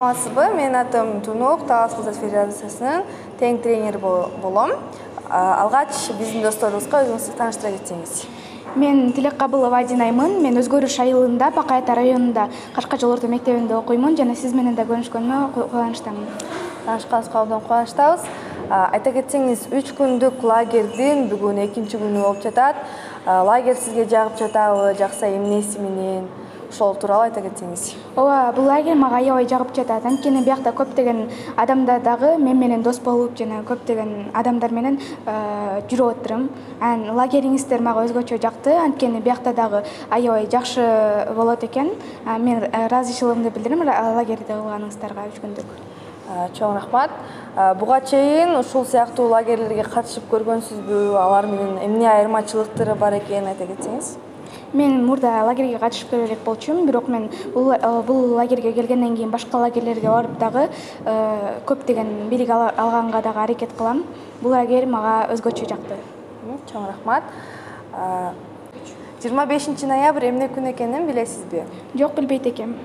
Саламатсызбы? Менин атым Тунук, Талас Кыздар Федерациясынын тең тренери болом. Алгач биздин досторубузга өзүңүздү тааныштыра кетсеңиз. Мен Тилеккабылова Адинаймын. Мен Өзгөрүш айылында, Бакай Ата районунда Кашка жол орто мектебинде окуймун жана сиз менен да көрүшкөнүмө кубанычтамын. Таанышканыбызга абдан кубанычтабыз. Айта кетсеңиз, 3 күндүк лагердин бүгүн 2-күнү болуп жатат. Лагерь сизге жагып жатабы, жакса эмнеси менен? Ошол тууралуу айта кетсеңиз. Ооба, бул лагерь мага аябай жагып жатат. Анткени биякта көптөгөн адамдар дагы мен менен дос болуп, жана көптөгөн адамдар менен жүрүп отурум. Лагериңиздер мага өзгөчө жакты. Анткени биякта дагы аябай жакшы болот экен. Мен ыраазычылыгымды билдирем лагерьде кылганыңыздарга 3 күндүк. Чоң рахмат. Буга чейин ушул сыяктуу лагерлерге катышып көргөнсүзбү? Алар менен эмне айырмачылыктары бар экенин айта кетсеңиз. Мен мурда лагерге катышып көрө элек болчумун, бирок мен бул лагерге келгенден кийин башка лагерлерге барып дагы көптөгөн билик алганга дагы аракет кылам. Бул лагерь мага өзгөчө жакты. Чоң рахмат. 25 ноябрь эмне күн экенин билесизби? Жок, билбейт экем.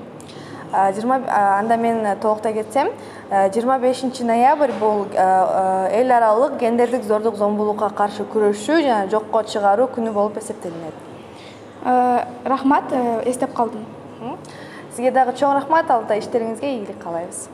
Анда мен толуктай кетсем, 25 ноябрь бул эл аралык гендердик зордук зомбулукка каршы күрөшүү жана жокко чыгаруу күнү болуп эсептелинет. Рахмат, эстеп калдым. Сизге дагы чоң рахмат. Алда иштериңизге ийгилик каалайбыз.